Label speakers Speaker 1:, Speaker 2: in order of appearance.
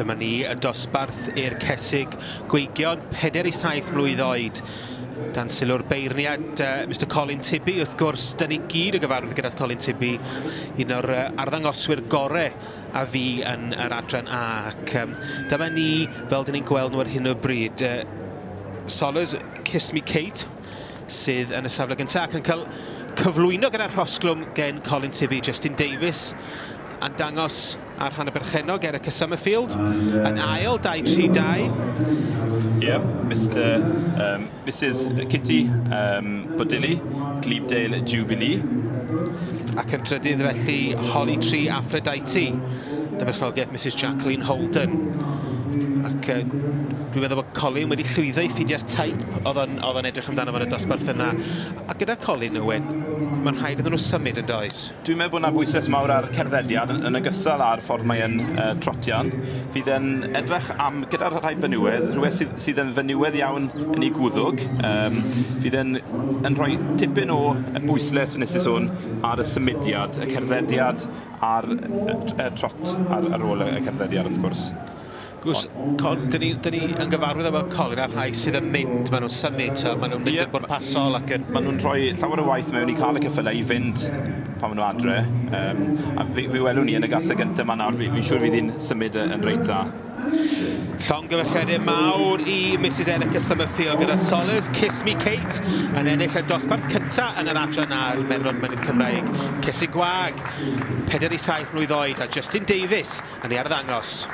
Speaker 1: Dyma ni y dosbarth i'r cesig gweigion, 4 i 7 mlwydd oed. Dan sylw'r beirniad Mr Colin Tibby, wrth gwrs, dyn ni gyd yn gyfarwydd gyda Colin Tibby, un o'r arddangoswyr gore a fi yn yr adran A. Ac dyma ni, fel dyn ni'n gweld nhw ar hyn o bryd, Solers Kiss Me Kate, sydd yn y safle gyntaf ac yn cael cyflwyno gyda'r rhosglwm gen Colin Tibby. Justin Davies yn dangos ar rhan y berchennog Erica Summerfield yn ail, 2-3-2.
Speaker 2: Yeah, Mrs Kitty Bodilly, Glebedale Jubilee.
Speaker 1: Ac yn drydydd felly Holly Tree Aphrodite, dymerchnogaeth Mrs Jacqueline Holden. Ac dwi'n meddwl bod Colin wedi llwyddo i ffeindio'r teip oedd o'n edrych amdano fo'n y dosbarth yna. A gyda Colin, Owen, mae'n rhaid iddyn nhw symud yn does?
Speaker 2: Dwi'n meddwl bod yna bwyslais mawr ar cerddediad yn ogystal â'r ffordd mae'n trotian. Fydd e'n edrych am, gyda'r rhai benywedd, rhywbeth sydd yn fenywedd iawn yn ei gwddwg. Fydd e'n yn rhoi tipyn o bwyslais, nes i sôn, ar y symudiad, y cerddediad a'r trot ar ôl y cerddediad, wrth gwrs.
Speaker 1: Gwrs, dyn ni yn gyfarwydd efo Colin a'r rhai sydd yn mynd, maen nhw'n symud, so maen nhw'n mynd yn bwrpasol ac yn...
Speaker 2: Maen nhw'n rhoi llawer o waith mewn i cael y ceffylau i fynd pan maen nhw adre. A fi welwn ni yn y gaseg gyntaf yma nawr, fi'n siŵr fydd hi'n symud yn reit dda.
Speaker 1: Llongyfarchiadau mawr i Mrs Erica Summerfield gyda Solers Kiss Me Kate yn ennill y dosbarth cyntaf yn yr adran a'r Merlod Mynydd Cymraeg. Cesig Gwag, 4 i 7 mlwydd oed, a Justin Davies yn ei arddangos.